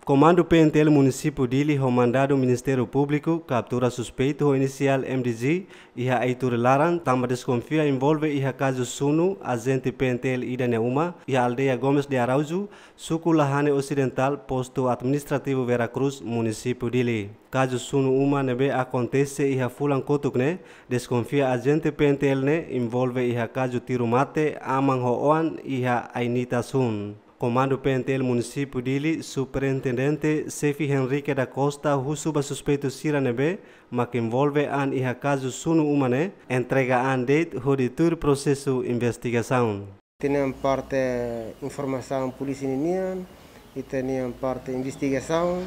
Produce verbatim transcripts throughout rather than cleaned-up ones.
Komandu P N T L Munisípiu Dili ho mandadu Ministériu Públiku kaptura suspeitu ho inisiál M D G iha Aituri laran, tanba deskonfia envolve iha kazu sunu ajente P N T L ida nia uma iha aldeia Gomes de Araújo, suku Lahane Osidentál, postu administrativu Vera Cruz, Munisípiu Dili. Kazu sunu uma ne'ebé akontese iha fulan kotuk ne'e, deskonfia ajente P N T L ne'e envolve iha kazu tiru mate aman ho oan iha Ainita Sun. Komandu P N T L Munisípiu Dili, Superintendente Xefe Henrique da Costa, husu ba suspeitu sira ne'ebé mak envolve an iha kazu sunu uma ne'e, entrega an de'it hodi tuir prosesu investigasaun. Ita-nia parte informasaun polísia ninian, ita-nia parte investigasaun,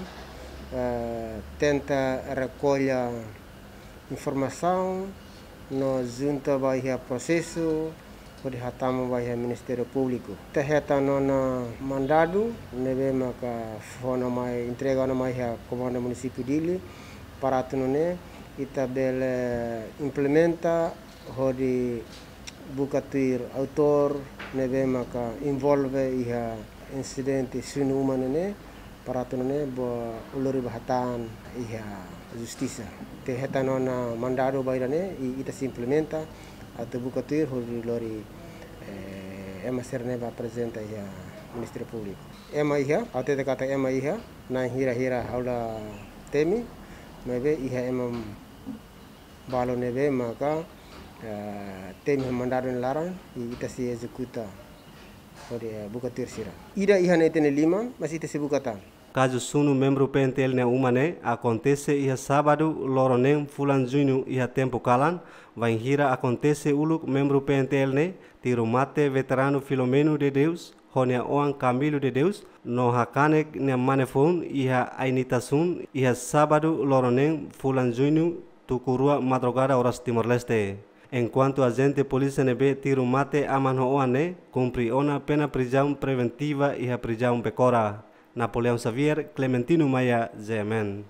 eh, tenta rekolla informasaun no junta ba iha prosesu, hodi hatama ba iha Ministériu Públiku. Ita hetan ona mandadu, ne'ebé maka fó ona mai, entrega ona mai iha Komandu Munisípiu Dili, para atu nune'e ita bele implementa hodi buka tuir autór ne'ebé maka envolve iha insidente sunu uma ne'e, para atu nune'e bele lori ba hatán iha justisa. Ita hetan ona mandadu ba ida-ne'e, i ita sei implementa atu buka tuir hodi lori, eh, ema sira-ne'e ba aprezenta iha Ministériu Públiku. Ema iha, ha'u hatete katak ema iha, na'in hira-hira ha'u la temi, maibé iha ema balu ne'ebé maka, eh, temi mandadu nia laran, i ita sei ezekuta hodi, eh, buka tuir sira. Ida iha ne'e ita-nia liman, mas ita sei buka tan. Kazu sunu membru P N T L nia uma ne'e akontese iha sábadu loron neen fulan Juñu iha tempu kalan, bainhira akontese uluk membru P N T L ne'e tiru mate veteranu Filomeno de Deus ho nia oan Camilo de Deus, no hakanek nia mane foun iha Ainita Sun iha sábadu loron neen fulan Juñu, tuku rua madrugada oras Timor-Leste. Enkuantu ajente polísia ne'ebé tiru mate aman ho oan ne'e kumpre ona pena prizaun preventiva iha prizaun Becora. Napoleão Xavier, Clementino Maia, G M N.